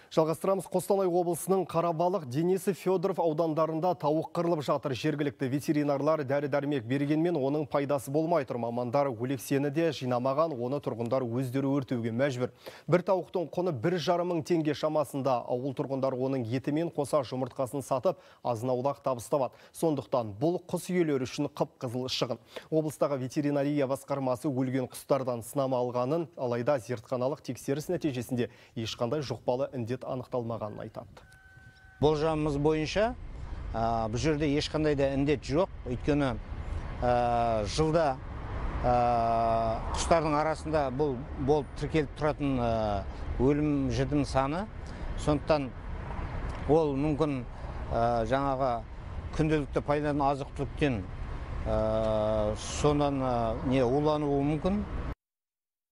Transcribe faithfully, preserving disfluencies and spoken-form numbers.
Жалғастырамыз. Қостанай облысының Қарабалық, Денисов, Федоров аудандарында тауық қырылып жатыр. Жергілікті ветеринарлар дәрі-дәрмек бергенмен оның пайдасы болмай тұр. Мамандар өлексені де жинамаған, оны тұрғындар өздері өртеуге мәжбүр. Бір тауықтың құны бір жарым мың теңге шамасында. Ауыл тұрғындар оның етімен қоса жұмыртқасын сатып, азын-аулақ табыс табады. Сондықтан бұл құс иелері үшін қып-қызыл шығын. Облыстағы ветеринария басқармасы өлген құстардан сынама алғанын, алайда зертханалық тексеріс нәтижесінде ешқандай жұқпалы індет анықталмағанын айтады. Болжамымыз бойынша бұл жерде ешқандай да індет жоқ. Өйткені жылда құстардың арасында бұл болып тіркеліп тұратын өлім жітім саны. Сондықтан ол мүмкін жаңағы күнделікті пайдаланатын азық-түліктен сонан не улануы мүмкін.